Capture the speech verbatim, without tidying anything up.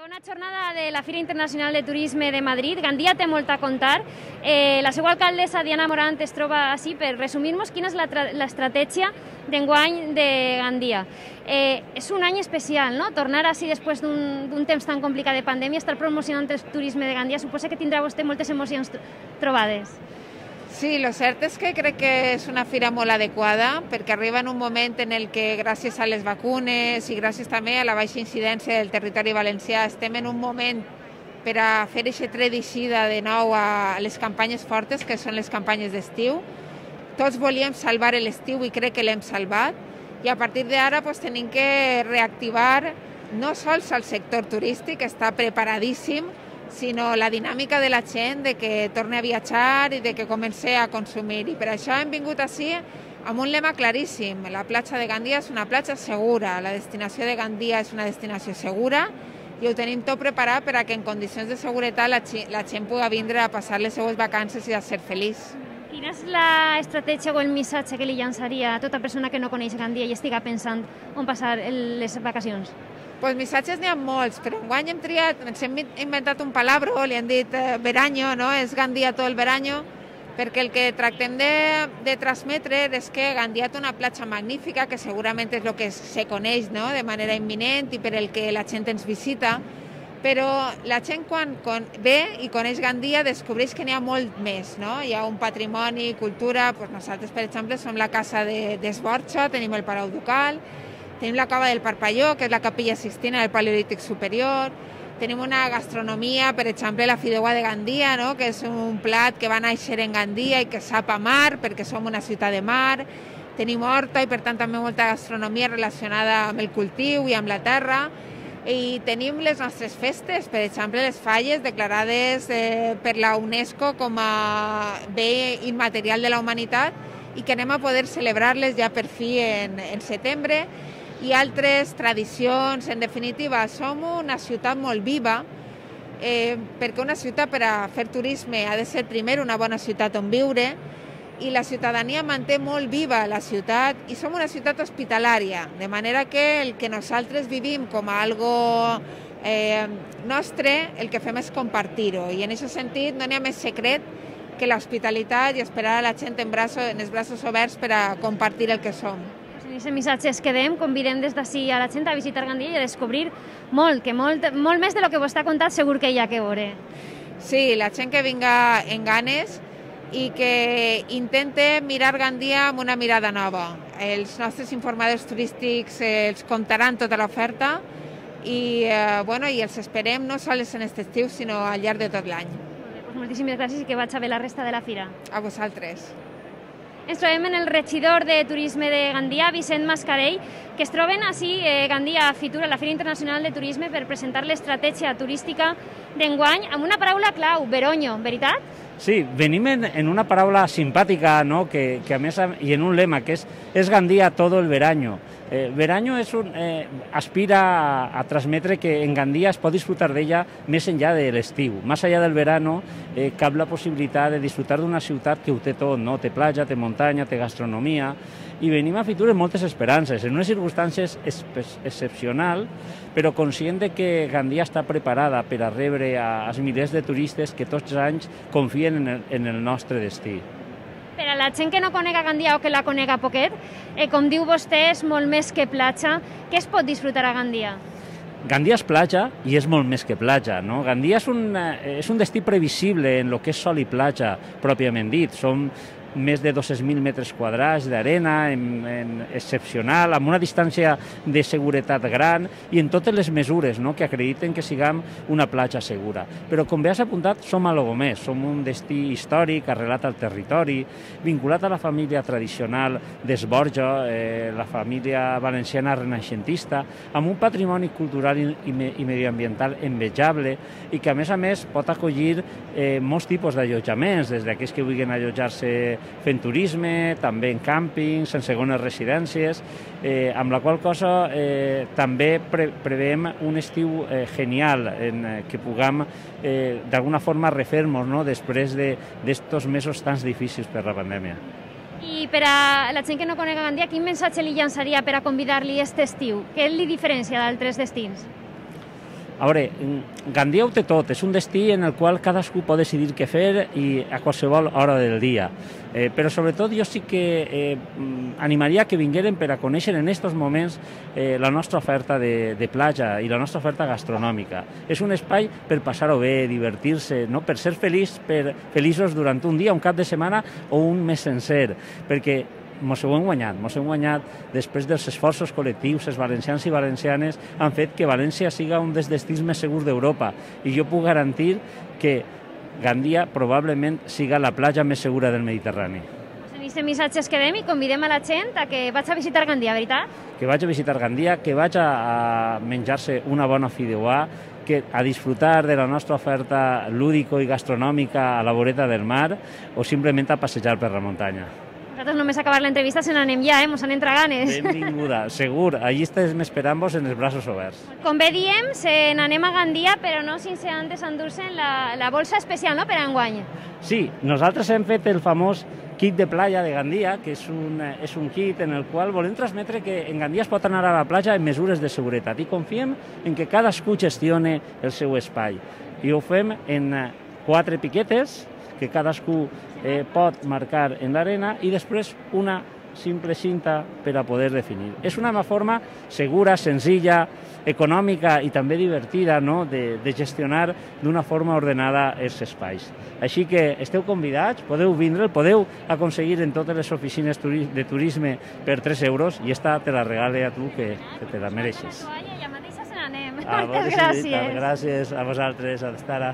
Segona jornada de la Fira Internacional de Turisme de Madrid. Gandia té molt a contar. Eh, la seva alcaldessa, Diana Morant, es troba així per resumir-nos quina és l'estratègia d'enguany de Gandia. Eh, és un any especial, no? Tornar així després d'un temps tan complicat de pandèmia, estar promocionant el turisme de Gandia, suposa que tindrà vostè moltes emocions trobades. Sí, lo cert és que crec que és una fira molt adequada perquè arriba en un moment en el que gràcies a les vacunes i gràcies també a la baixa incidència del territori valencià estem en un moment per a fer aquesta tret d'eixida de nou a les campanyes fortes, que són les campanyes d'estiu. Tots volíem salvar l'estiu i crec que l'hem salvat i a partir d'ara pues, tenim que reactivar no sols el sector turístic, que està preparadíssim, sinó la dinàmica de la gent, de que torni a viatjar i de que comenci a consumir. I per això hem vingut així amb un lema claríssim. La platja de Gandia és una platja segura, la destinació de Gandia és una destinació segura i ho tenim tot preparat per a que en condicions de seguretat la, la gent pugui vindre a passar les seues vacances i a ser feliç. Quina és l'estratègia o el missatge que li llançaria a tota persona que no coneix Gandia i estiga pensant on passar les vacacions? Pues missatges n'hi ha molts, però enguany hem triat, ens hem inventat un palabro, li han dit eh, veranyo, no? És Gandia tot el veranyo, perquè el que tractem de, de transmetre és que Gandia té una platja magnífica, que segurament és el que se coneix, no? De manera imminent i per el que la gent ens visita, però la gent quan, quan ve i coneix Gandia descobreix que n'hi ha molt més, no? Hi ha un patrimoni, cultura, pues nosaltres per exemple som la casa d'Esborxa, de, tenim el Palau Ducal, tenim la cava del Parpalló, que és la capella Sixtina del Paleolític Superior. Tenim una gastronomia, per exemple, la fideuà de Gandia, no? Que és un plat que va néixer en Gandia i que sap a mar, perquè som una ciutat de mar. Tenim horta i, per tant, també molta gastronomia relacionada amb el cultiu i amb la terra. I tenim les nostres festes, per exemple, les falles declarades eh, per la UNESCO com a bé immaterial de la humanitat i que anem a poder celebrar-les ja per fi en, en setembre. I altres tradicions. En definitiva, som una ciutat molt viva, eh, perquè una ciutat per a fer turisme ha de ser primer una bona ciutat on viure i la ciutadania manté molt viva la ciutat i som una ciutat hospitalària, de manera que el que nosaltres vivim com a algo eh, nostre, el que fem és compartir-ho i en aquest sentit no n'hi ha més secret que l'hospitalitat i esperar a la gent en, braços, en els braços oberts per a compartir el que som. En aquest missatge es quedem, convidem des d'ací a la gent a visitar Gandia i a descobrir molt, que molt, molt més de lo que vostè ha contat segur que hi ha que veure. Sí, la gent que vinga en ganes i que intente mirar Gandia amb una mirada nova. Els nostres informadors turístics els contaran tota l'oferta i, eh, bueno, i els esperem no sols en aquest estiu, sinó al llarg de tot l'any. Pues moltíssimes gràcies i que vaig a bé la resta de la fira. A vosaltres. Ens trobem en el regidor de Turisme de Gandia, Vicent Mascarell, que es troben així eh, Gandia a Fitur, a la Fira Internacional de Turisme, per presentar l'estratègia turística d'enguany amb una paraula clau, veronyo, veritat? Sí, venim en, en una paraula simpàtica, no? que, que a més, i en un lema, que és, és Gandia todo el veranyo. Eh, veranyo és un, eh, aspira a, a transmetre que en Gandia es pot disfrutar d'ella més enllà de l'estiu. Més enllà del verano, eh, cap la possibilitat de disfrutar d'una ciutat que ho té tot, no? Té platja, té muntanya, té gastronomia, i venim a Fitur amb moltes esperances, en unes circumstàncies excepcionals, però conscient de que Gandia està preparada per a rebre als milers de turistes que tots els anys confien en el, en el nostre destí. Per a la gent que no conega Gandia o que la conega poquet, eh, com diu vostè, és molt més que platja. Què es pot disfrutar a Gandia? Gandia és platja i és molt més que platja, no? Gandia és un, és un destí previsible en el que és sol i platja, pròpiament dit. Som més de dos-cents mil metres quadrats d'arena, en, en excepcional, amb una distància de seguretat gran i en totes les mesures, no?, que acrediten que siguem una platja segura. Però, com bé has apuntat, som algo més. Som un destí històric, arrelat al territori, vinculat a la família tradicional d'Esborja, eh, la família valenciana renaixentista, amb un patrimoni cultural i, i, i medioambiental envejable i que, a més a més, pot acollir eh, molts tipus d'allotjaments, des d'aquells que vulguin allotjar-se fent turisme, també en càmpings, en segones residències, eh, amb la qual cosa eh, també pre preveiem un estiu eh, genial en eh, que puguem eh, d'alguna forma refer-nos, no?, després d'estos de, mesos tan difícils per la pandèmia. I per a la gent que no conega Gandia, quin missatge li llançaria per a convidar-li aquest estiu? Què li diferencia d'altres destins? A veure, Gandia ho té tot, és un destí en el qual cadascú pot decidir què fer i a qualsevol hora del dia. Eh, però sobretot jo sí que eh, animaria que vingueren per a conèixer en aquests moments eh, la nostra oferta de, de platja i la nostra oferta gastronòmica. És un espai per passar-ho bé, divertir-se, no? Per ser feliç, per, feliços durant un dia, un cap de setmana o un mes sencer, perquè mos ho hem guanyat, mos hem guanyat després dels esforços col·lectius, els valencians i valencianes han fet que València siga un dels destins més segurs d'Europa i jo puc garantir que Gandia probablement siga la platja més segura del Mediterrani. En aquest missatge quedem i convidem a la gent a que vaig a visitar Gandia, veritat? Que vaig a visitar Gandia, que vaig a menjar-se una bona fideuà, que a disfrutar de la nostra oferta lúdico i gastronòmica a la voreta del mar o simplement a passejar per la muntanya. Nosaltres només acabar l'entrevista se n'anem ja, eh? Mos han entra ganes. Benvinguda, segur. Allí estem esperant-vos en els braços oberts. Com bé diem, se n'anem a Gandia, però no sense antes endur-se'n la, la bolsa especial, no?, per a enguany. Sí, nosaltres hem fet el famós kit de playa de Gandia, que és un, és un kit en el qual volem transmetre que en Gandia es pot anar a la platja amb mesures de seguretat i confiem en que cadascú gestione el seu espai. I ho fem en quatre piquetes que cadascú eh, pot marcar en l'arena i després una simple cinta per a poder definir. És una forma segura, senzilla, econòmica i també divertida, no?, de, de gestionar d'una forma ordenada els espais. Així que esteu convidats, podeu vindre, el podeu aconseguir en totes les oficines de turisme per tres euros i esta te la regale a tu, que, que te la mereixes. Ja mateixa se n'anem. Ah, Moltes gràcies. Gràcies a vosaltres, a l'estar.